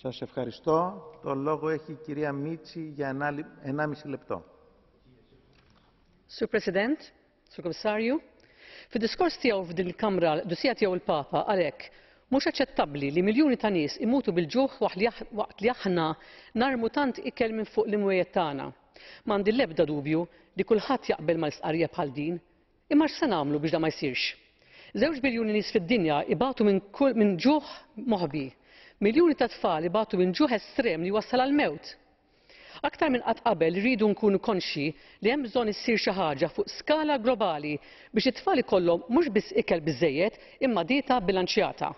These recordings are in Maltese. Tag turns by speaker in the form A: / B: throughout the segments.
A: Σας ευχαριστώ. Το λόγο έχει η κυρία Μίτση για 1,5 λεπτό.
B: Sur President, Sur Kummissarju, fid-diskors tiegħu f'din il-Kamra l-Qdusija tiegħu il-Papa qal hekk: Mhux aċċettabbli li miljuni ta' nies imutu bil-ġuħ waqt li aħna narmu tant ikel minn fuq l-imwejjed tagħna. M'għandi l-ebda dubju li kulħadd jaqbel mal-istqarrija bħal din. Imma x'se nagħmlu biex dan ma jsirx? Żewġ biljuni nies fid-dinja ibatu minn minn ġuħ moħbi. Miljuni ta' tfal ibatu minn ġuħ estrem li jwassal għall-mewt. Aktar minn qatt qabel irridu nkunu konxji li hemm bżonn issir xi ħaġa fuq skala globali biex it-tfal ikollhom mhux biss ikel biżżejjed imma dieta bilanċjata.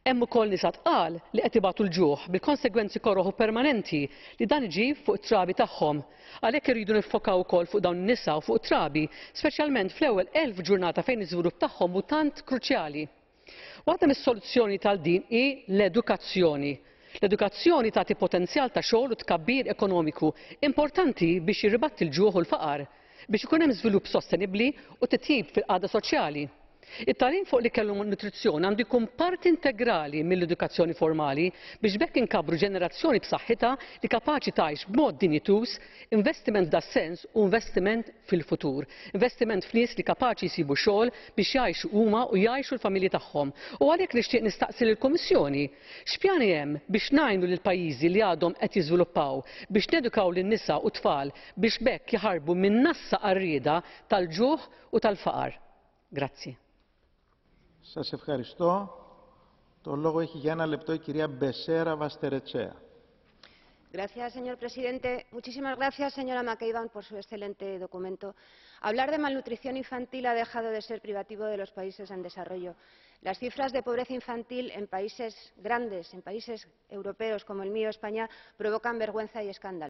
B: Hemm ukoll nisa tqal li qed ibatu l-ġuħ bil-konsegwenzi koroh u permanenti li dan iġib fuq it-trabi tagħhom. Għalhekk irridu niffokaw ukoll fuq dawn in-nisa u fuq it-trabi, speċjalment fl-ewwel 1,000 ġurnata fejn l-iżvilupp tagħhom hu tant kruċjali. Waħda mis-soluzzjonijiet għal din hi l-edukazzjoni. L-edukazzjoni tagħti potenzjal ta' xogħol u tkabbir ekonomiku importanti biex jirribatti l-ġuħ u l-faqar, biex ikun hemm żvilupp sostenibbli u titjib fil-qagħda soċjali. It-tagħlim fuq l-ikel u n-nutrizzjoni għandu jkun parti integrali mill-edukazzjoni formali biex b'hekk inkabbru ġenerazzjoni b'saħħitha li kapaċi tgħix b'mod dinjituż. Investiment f'das-sens hu investiment fil-futur. Investiment f'nies li kapaċi jsibu xogħol biex jgħixu huma u jgħixu l-familji tagħhom. U għalhekk nixtieq nistaqsi lill-Kummissjoni, x'pjani hemm biex ngħinu lill-pajjiżi li għadhom qed jiżviluppaw biex nedukaw lin-nisa u t-tfal biex b'hekk jaħarbu min-nassa għarrieda tal-ġuħ u tal-faqar? Grazzi.
A: Σας ευχαριστώ. Το λόγο έχει για ένα λεπτό η κυρία Μπεσέρα Βαστερετσέα.
C: Gracias, señor presidente. Muchísimas gracias, señora McAvan, por su excelente documento. Hablar de malnutrición infantil ha dejado de ser privativo de los países en desarrollo. Las cifras de pobreza infantil en países grandes, en países europeos como el mío, España, provocan vergüenza y escándalo.